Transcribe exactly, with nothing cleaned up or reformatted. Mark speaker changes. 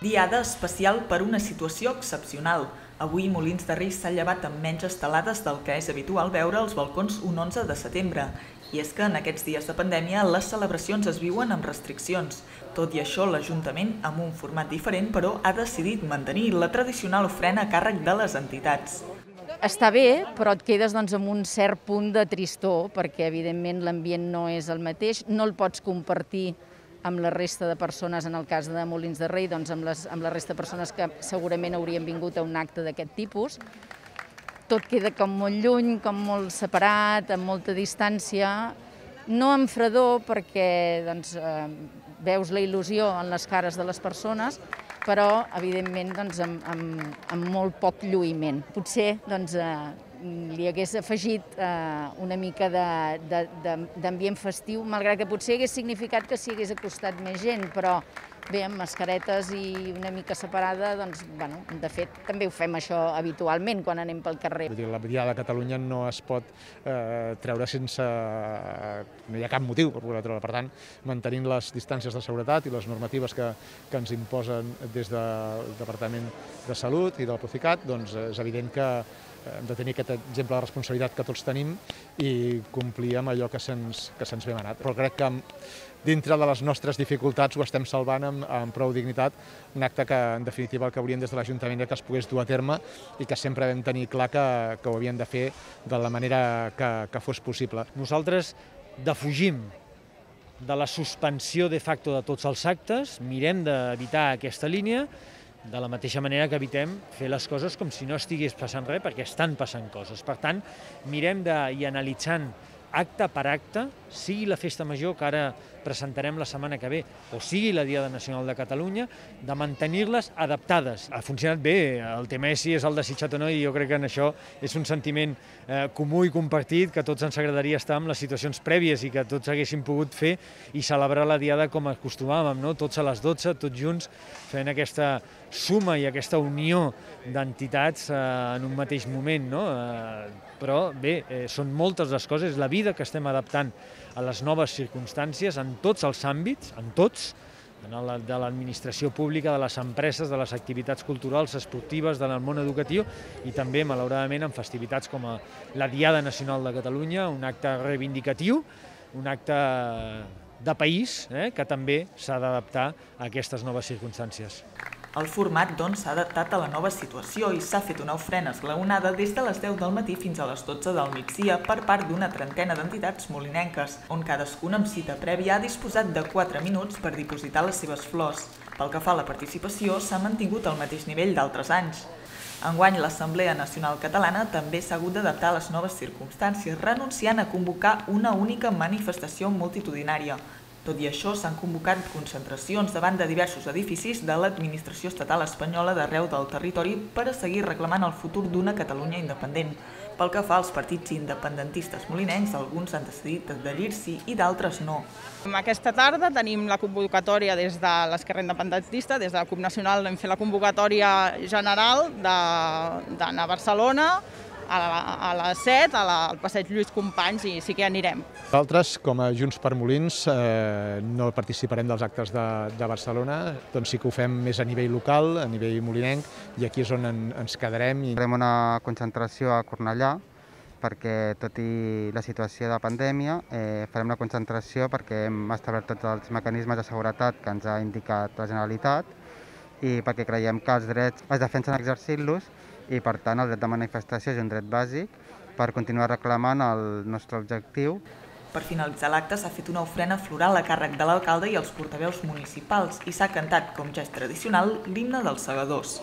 Speaker 1: Diada especial per una situació excepcional. Avui Molins de Rei s'ha llevat amb menys estelades del que és habitual veure als balcons un onze de setembre. I és que en aquests dies de pandèmia les celebracions es viuen amb restriccions. Tot i això, l'Ajuntament, amb un format diferent, però ha decidit mantenir la tradicional ofrena a càrrec de les entitats.
Speaker 2: Està bé, però et quedes doncs, amb un cert punt de tristor, perquè evidentment l'ambient no és el mateix, no el pots compartir amb la resta de persones, en el cas de Molins de Rei, doncs amb, les, amb la resta de persones que segurament haurien vingut a un acte d'aquest tipus. Tot queda com molt lluny, com molt separat, amb molta distància, no amb fredor perquè doncs, eh, veus la il·lusió en les cares de les persones, però evidentment doncs, amb, amb, amb molt poc lluïment. Potser doncs, eh, li hagués afegit eh, una mica d'ambient festiu, malgrat que potser hagués significat que s'hi hagués acostat més gent, però bé, amb mascaretes i una mica separada, doncs, bueno, de fet, també ho fem això habitualment quan anem pel carrer.
Speaker 3: La Diada de Catalunya no es pot eh, treure sense... no hi ha cap motiu per poder treure. Per tant, mantenint les distàncies de seguretat i les normatives que, que ens imposen des del Departament de Salut i del Procicat, doncs és evident que hem de tenir aquest exemple de responsabilitat que tots tenim i complir amb allò que se'ns que se'ns ve manat. Però crec que dintre de les nostres dificultats ho estem salvant amb, amb prou dignitat, un acte que en definitiva el que haurien des de l'Ajuntament era que es pogués dur a terme i que sempre vam tenir clar que, que ho havien de fer de la manera que, que fos possible.
Speaker 4: Nosaltres defugim de la suspensió de facto de tots els actes, mirem d'evitar aquesta línia, de la mateixa manera que evitem fer les coses com si no estigués passant res, perquè estan passant coses. Per tant, mirem de, i analitzant acte per acte, sigui la Festa Major, que ara presentarem la setmana que ve, o sigui la Diada Nacional de Catalunya, de mantenir-les adaptades. Ha funcionat bé, el tema és si és el desitjat o no, i jo crec que en això és un sentiment eh, comú i compartit, que a tots ens agradaria estar en les situacions prèvies i que tots haguéssim pogut fer i celebrar la Diada com acostumàvem, no? Tots a les dotze, tots junts, fent aquesta suma i aquesta unió d'entitats eh, en un mateix moment, no? Eh, però bé, eh, són moltes les coses, la vida que estem adaptant a les noves circumstàncies en tots els àmbits, en tots, en la, de l'administració pública, de les empreses, de les activitats culturals, esportives, del món educatiu i també, malauradament, en festivitats com a la Diada Nacional de Catalunya, un acte reivindicatiu, un acte de país eh, que també s'ha d'adaptar a aquestes noves circumstàncies.
Speaker 1: El format, doncs, s'ha adaptat a la nova situació i s'ha fet una ofrena esglaonada des de les deu del matí fins a les dotze del migdia per part d'una trentena d'entitats molinenques, on cadascuna amb cita prèvia ha disposat de quatre minuts per dipositar les seves flors. Pel que fa a la participació, s'ha mantingut al mateix nivell d'altres anys. Enguany, l'Assemblea Nacional Catalana també s'ha hagut d'adaptar a les noves circumstàncies, renunciant a convocar una única manifestació multitudinària. Tot i això, s'han convocat concentracions davant de diversos edificis de l'administració estatal espanyola d'arreu del territori per a seguir reclamant el futur d'una Catalunya independent. Pel que fa als partits independentistes molinencs, alguns han decidit adherir-s'hi i d'altres no.
Speaker 5: Aquesta tarda tenim la convocatòria des de l'Esquerra Independentista, des de la CUP Nacional hem fet la convocatòria general d'anar a Barcelona, a les set, al passeig Lluís Companys, i sí que anirem.
Speaker 3: Nosaltres, com a Junts per Molins, eh, no participarem dels actes de, de Barcelona, doncs sí que ho fem més a nivell local, a nivell molinenc, i aquí és on en, ens quedarem.
Speaker 6: Farem una concentració a Cornellà, perquè tot i la situació de pandèmia, eh, farem una concentració perquè hem establert tots els mecanismes de seguretat que ens ha indicat la Generalitat i perquè creiem que els drets es defensen exercint-los i, per tant, el dret de manifestació és un dret bàsic per continuar reclamant el nostre objectiu.
Speaker 1: Per finalitzar l'acte s'ha fet una ofrena floral a càrrec de l'alcalde i els portaveus municipals i s'ha cantat, com ja és tradicional, l'himne dels Segadors.